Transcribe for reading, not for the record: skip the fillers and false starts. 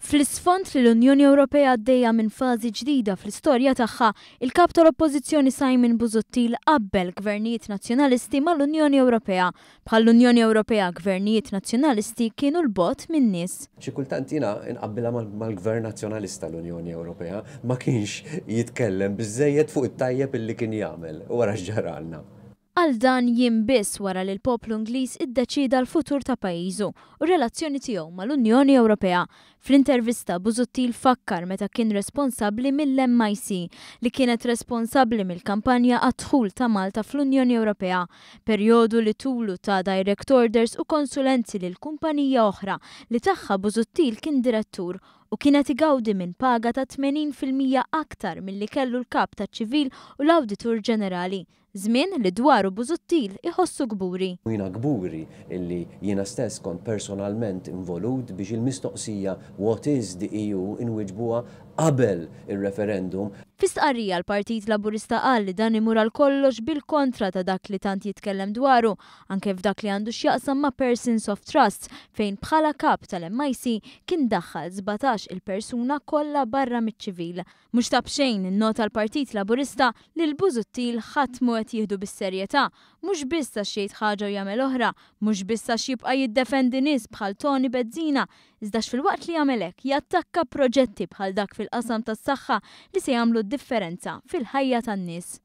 Fl-isfond li l-Unjoni Ewropea għaddejja minn fażi ġdida fl-istorja tagħha, il-Kap tal-Oppożizzjoni Simon Busuttil qabbel gvernijiet Nazzjonalisti mal-Unjoni Ewropea. Bħall-Unjoni Ewropea gvernijiet Nazzjonalisti kienu 'l bogħod min-nies. Xi kultant jiena nqabbilha mal-Gvern Nazzjonalista l-Unjoni Ewropea ma kienx jitkellem biżżejjed fuq it-tajjeb illi kien jagħmel u ara x'ġaralna. Qal dan jiem biss wara li l-poplu Ingliż iddeċieda l-futur ta' pajjiżu u r-relazzjoni tiegħu mal-Unjoni Ewropea. Fl-intervista Busuttil fakkar meta kien responsabbli mill-MIC, li kienet responsabbli mill-kampanja għad-dħul ta' Malta fl-Unjoni Ewropea, perjodu li tulu ta direct orders u konsulenzi lil kumpanija oħra li tagħha Busuttil kien direttur u kien qed igawdi minn paga ta' 80% aktar milli kellu l-Kap taċ-Ċivil u l-Awditur Ġenerali. Żmien li dwaru Busuttil iħossu kburi. U jiena kburi illi jiena stess kont personalment involut biex il-mistoqsija What is the EU inwiġbuha qabel ir-referendum. Fi stqarrija l-Partit Laburista qal li dan imur għal kollox bil-kontra ta' dak li tant jitkellem dwaru, anke f'dak li għandu x'jaqsam ma' persons of trust fejn bħala kap tal-MIC kien daħħal 17 il-persuna kollha barra miċ-ċivil. Mhux ta' b'xejn, innota l-Partit Laburista, li lil Busuttil ħadd mhu qed jieħdu bis-serjetà, mhux biss għax jgħid ħaġa u jagħmel oħra, mhux biss għax jibqa' jiddefendi nies bħal Toni Bezzina, iżda filwaqt li jagħmel hekk jattakka proġetti bħal dak fil-qasam tas-saħħa li se jagħmlu d-differenza fil-ħajja tan-nies.